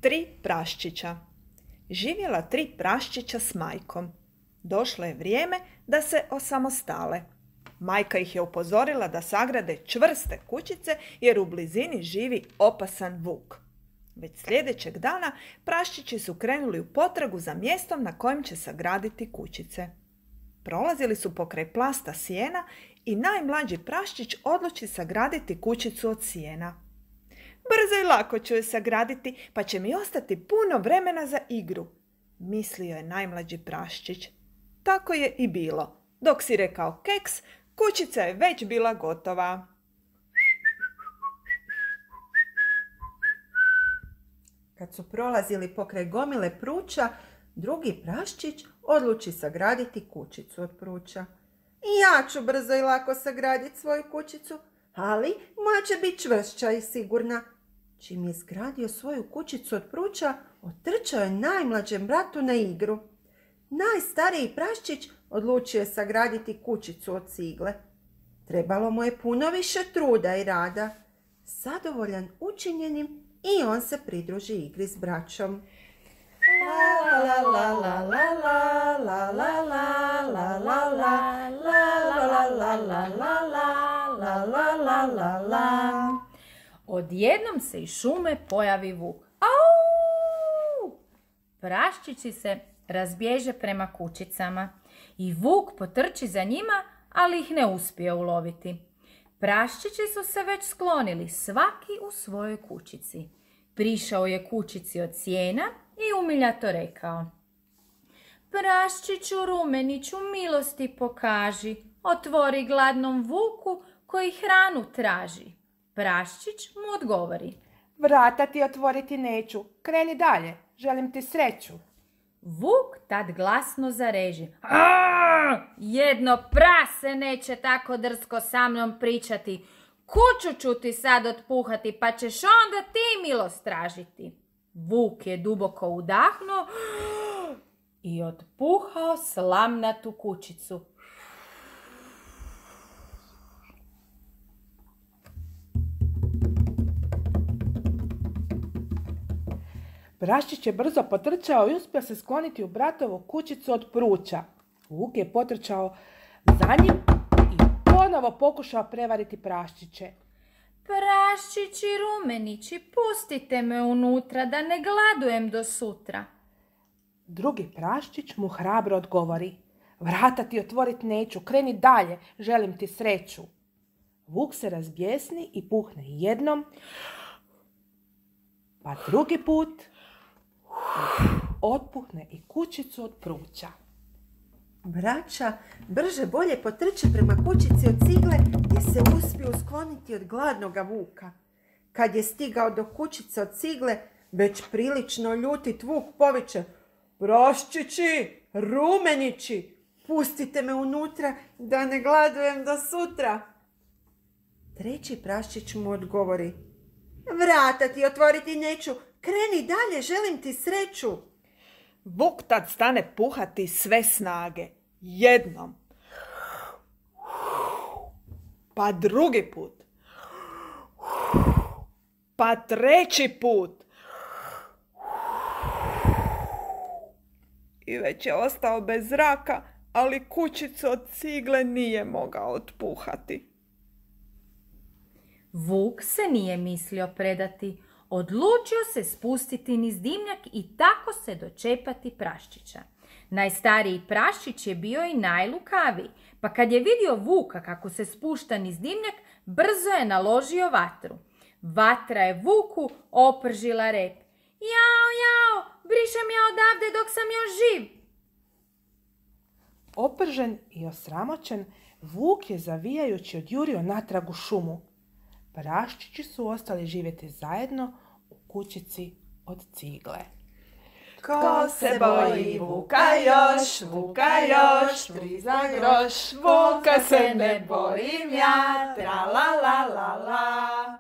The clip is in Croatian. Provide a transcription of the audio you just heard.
3 praščića. Živjela 3 praščića s majkom. Došlo je vrijeme da se osamostale. Majka ih je upozorila da sagrade čvrste kućice jer u blizini živi opasan vuk. Već sljedećeg dana praščići su krenuli u potragu za mjestom na kojem će sagraditi kućice. Prolazili su pokraj plasta sjena i najmlađi praščić odluči sagraditi kućicu od sjena. Brzo i lako ću je sagraditi, pa će mi ostati puno vremena za igru, mislio je najmlađi praščić. Tako je i bilo. Dok si rekao keks, kućica je već bila gotova. Kad su prolazili pokraj gomile pruća, drugi praščić odluči sagraditi kućicu od pruća. I ja ću brzo i lako sagraditi svoju kućicu, ali moja će biti čvršća i sigurna. Čim je izgradio svoju kućicu od pruća, otrčao je najmlađem bratu na igru. Najstariji praščić odlučio je sagraditi kućicu od cigle. Trebalo mu je puno više truda i rada. Zadovoljan učinjenim, i on se pridruži igri s braćom. La la la la la la la la la la la la la la la la la. Odjednom se iz šume pojavi vuk. Au! Praščići se razbježe prema kućicama i vuk potrči za njima, ali ih ne uspije uloviti. Praščići su se već sklonili, svaki u svojoj kućici. Prišao je kućici od sjena i umiljato rekao: Praščiću rumeniću, milosti pokaži, otvori gladnom vuku koji hranu traži. Praščić mu odgovori: Vrata ti otvoriti neću, kreni dalje, želim ti sreću. Vuk tad glasno zareži: Jedno prase neće tako drsko sa mnom pričati. Kuću ću ti sad otpuhati, pa ćeš onda ti milost tražiti. Vuk je duboko udahnuo i otpuhao slamnatu kućicu. Praščić je brzo potrčao i uspio se skloniti u bratovu kućicu od pruća. Vuk je potrčao za njim i ponovo pokušao prevariti praščiće. Praščići rumenići, pustite me unutra da ne gladujem do sutra. Drugi praščić mu hrabro odgovori: Vrata ti otvorit neću, kreni dalje, želim ti sreću. Vuk se razbjesni i puhne jednom, pa drugi put otpuhne i kućicu od pruća. Braća brže bolje potrče prema kućici od cigle gdje se uspiju skloniti od gladnoga vuka. Kad je stigao do kućice od cigle, već prilično ljutit vuk poviče: Praščići, rumenići, pustite me unutra da ne gladujem do sutra. Treći praščić mu odgovori: Vrata ti otvoriti neću, kreni dalje, želim ti sreću. Vuk tad stane puhati sve snage. Jednom. Pa drugi put. Pa treći put. I već je ostao bez zraka, ali kućicu od cigle nije mogao otpuhati. Vuk se nije mislio predati. Odlučio se spustiti niz dimnjak i tako se dočepati praščića. Najstariji praščić je bio i najlukaviji, pa kad je vidio vuka kako se spušta niz dimnjak, brzo je naložio vatru. Vatra je vuku opržila rep. Jao, jao, brišem ja odavde dok sam još živ. Opržen i osramoćen, vuk je zavijajući odjurio natrag u šumu. Praščići su ostali živjeti zajedno u kućici od cigle. Ko se boji vuka još, priza groš, vuka se ne bojim ja, tra la la la la.